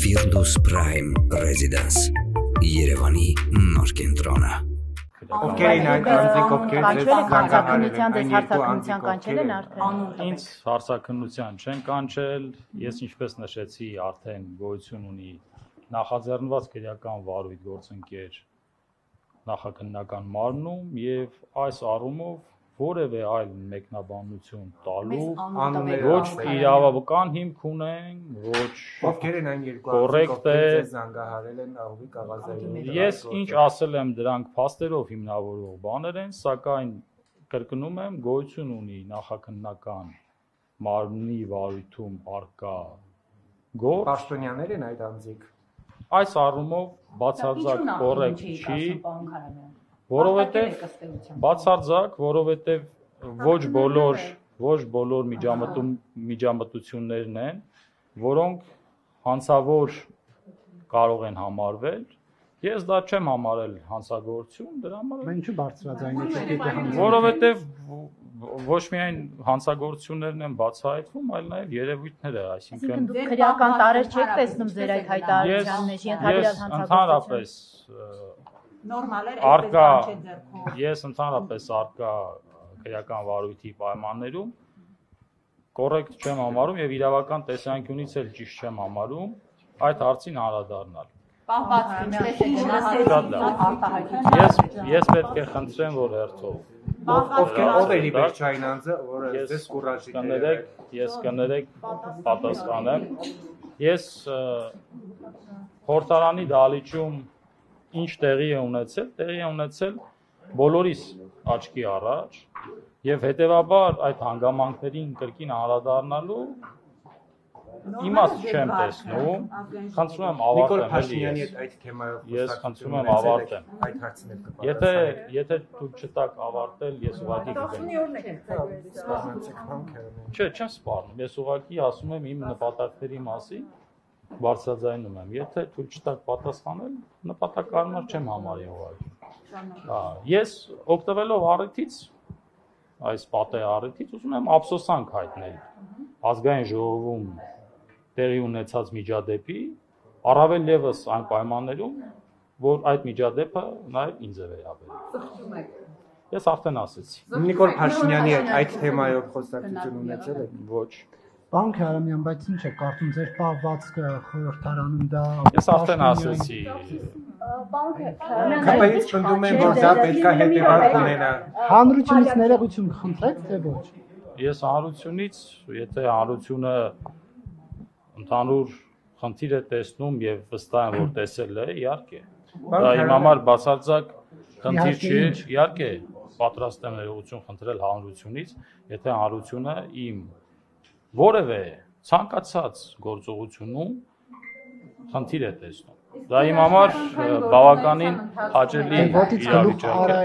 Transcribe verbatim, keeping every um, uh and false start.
Firdus Prime Residence Երևանի նոր կենտրոնը Ովքեր են այդ անձիկ, ովքեր ձեզ հարցաքննության դες հարցաքննության կանչել են արդեն։ Ինձ հարցաքննության չեն կանչել, ես ինչպես նշեցի, արդեն գոյություն ունի նախաձեռնված քրեական վարույթ գործընկեր նախաքննական մարմնում եւ այս առումով որևէ այլ մեկնաբանություն տալու ոչ իրավական հիմք ունեն, ոչ ովքեր են այն երկու կոռեկտ է զանգահարել են աղովի կաղազային։ Ես ինչ ասել եմ դրանք փաստերով հիմնավորող բաներ են, սակայն կրկնում եմ գոյություն ունի նախաքննական մարմնի վարույթում արկա գործ։ Պաշտոնյաներ են այդ անձիկ։ Այս առումով բացարձակ կոռեկտ չի, որովհետև բացարձակ, որովհետև ոչ բոլոր ոչ բոլոր միջամտում միջամտություններն են, որոնք հանցավոր կարող են համարվել։ Ես դա չեմ համարել հանցագործություն, դրա համար Ինչու բարձրաձայն եք, որովհետև ոչ միայն հանցագործություններն են բացահայտվում, այլ նաև երևույթները, այսինքն Դուք քրեական տարեր չեք տեսնում ձեր այդ հայտարարության մեջ, ենթադրյալ հանցագործություն։ Նորմալ էր Արկա ես ընդհանրապես արկա քրեական վարույթի պայմաններում կոռեկտ չեմ համարում եւ իրավական տեսանկյունից էլ ճիշտ չեմ համարում այդ հարցին անդրադառնալ։ Ես ես պետք է խնդրեմ, որ հերթով Ովքեր ով է լիբերչային անձը, որը ձեզ կուրաժի կներեք, ես կներեք պատասխանեմ։ Ես խորհրդարանի դահլիճում ինչ տեղի է ունեցել, տեղի է ունեցել բոլորիս աչքի առաջ եւ հետեւաբար այդ հանգամանքներին կրկին անդրադառնալու իմաստ չեմ տեսնում, խնդրում եմ ավարտեմ Փաշինյանի հետ այդ թեմայով ես խնդրում եմ ավարտեմ այդ հարցին եք կպատասխանեք։ Եթե եթե դուք չտաք ավարտել, ես ուղղակի գիտեմ։ Չէ, չեմ սպառնում, ես ուղղակի ասում եմ իմ նպատակների մասին բարձրաձայնում եմ, եթե թույլ չտաք պատասխանել, նպատակարար չեմ համարի ուղղակի։ Ես օգտվելով առիթից, այս պատեհ առիթից ուզում եմ ափսոսանք հայտնել ազգային ժողովում տեղի ունեցած միջադեպի, առավել ևս այն պայմաններում, որ այդ միջադեպը նաև ինձ է վերաբերում։ Ես արդեն ասեցի։ Նիկոլ Փաշինյանի հետ այդ թեմայով խոսակցություն ունեցել եք։ Ոչ։ Պարոն Քարամյան, բայց ինչ է կարծում ձեր պահվածքը խորհրդարանում դա Ես արդեն ասեցի։ Քպեից պնդում են, որ դա պետք է հետևանք ունենա։ Հանրությունից ներողություն խնդրեք, թե ոչ։ Ես հանրությունից, եթե հանրությունը ընդհանուր խնդիր է տեսնում եւ վստահ եմ, որ տեսել է, իհարկե։ Դա իմ համար բացարձակ խնդիր չի, իհարկե, պատրաստ եմ ներողություն խնդրել հանրությունից, եթե հանրությունը իմ որևէ ցանկացած գործողությունում խնդիր է տեսնում։ Դա իմ համար բավականին հաճելի իրավիճակ է։